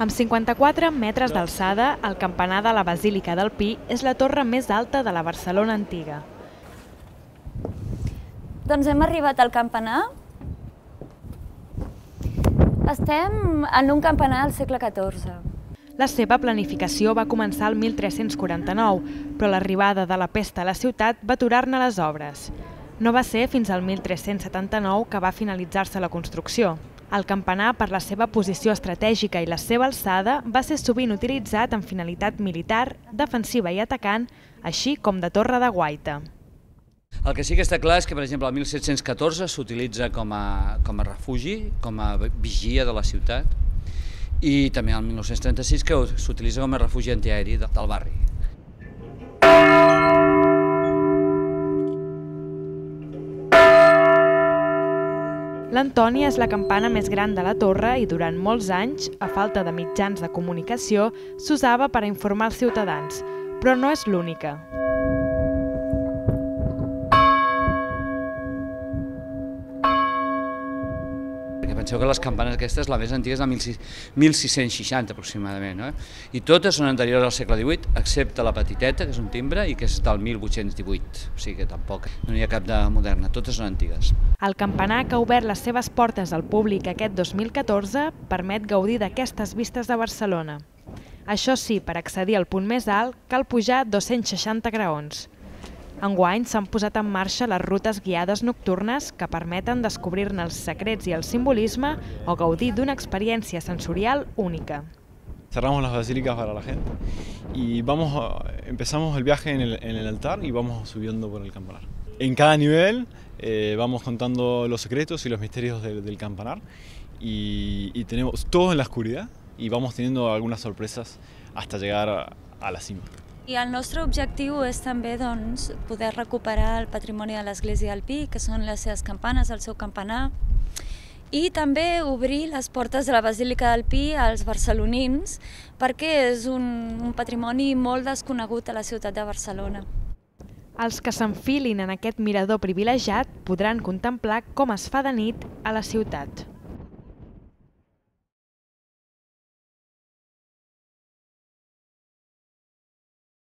Amb 54 metres d'alçada, el campanar de la Basílica del Pi és la torre més alta de la Barcelona antiga. Doncs hem arribat al campanar. Estem en un campanar del segle XIV. La seva planificació va començar el 1349, però l'arribada de la pesta a la ciutat va aturar-ne les obres. No va ser fins al 1379 que va finalitzar-se la construcció. El campanar, per la seva posició estratègica i la seva alçada, va ser sovint utilitzat amb finalitat militar, defensiva i atacant, així com de torre de guaita. El que sí que està clar és que, per exemple, el 1714 s'utilitza com a refugi, com a vigia de la ciutat, i també el 1936 que s'utilitza com a refugi antiaeri del barri. L'Antònia és la campana més gran de la torre i durant molts anys, a falta de mitjans de comunicació, s'usava per a informar els ciutadans, però no és l'única. Penseu que les campanes aquestes, la més antiga és de 1660 aproximadament, no? I totes són anteriors al segle XVIII, excepte la petiteta, que és un timbre, i que és del 1818, o sigui que tampoc no hi ha cap de moderna, totes són antigues. El campanar, que ha obert les seves portes al públic aquest 2014, permet gaudir d'aquestes vistes de Barcelona. Això sí, per accedir al punt més alt, cal pujar 260 graons. Enguany s'han posat en marxa les rutes guiades nocturnes que permeten descobrir-ne els secrets i el simbolisme o gaudir d'una experiència sensorial única. Cerramos las basílicas para la gente y empezamos el viaje en el altar y vamos subiendo por el campanar. En cada nivel vamos contando los secretos y los misterios del campanar y tenemos todo en la oscuridad y vamos teniendo algunas sorpresas hasta llegar a la cima. I el nostre objectiu és també poder recuperar el patrimoni de l'Església del Pi, que són les seves campanes, el seu campanar, i també obrir les portes de la Basílica del Pi als barcelonins, perquè és un patrimoni molt desconegut a la ciutat de Barcelona. Els que s'enfilin en aquest mirador privilegiat podran contemplar com es fa de nit a la ciutat.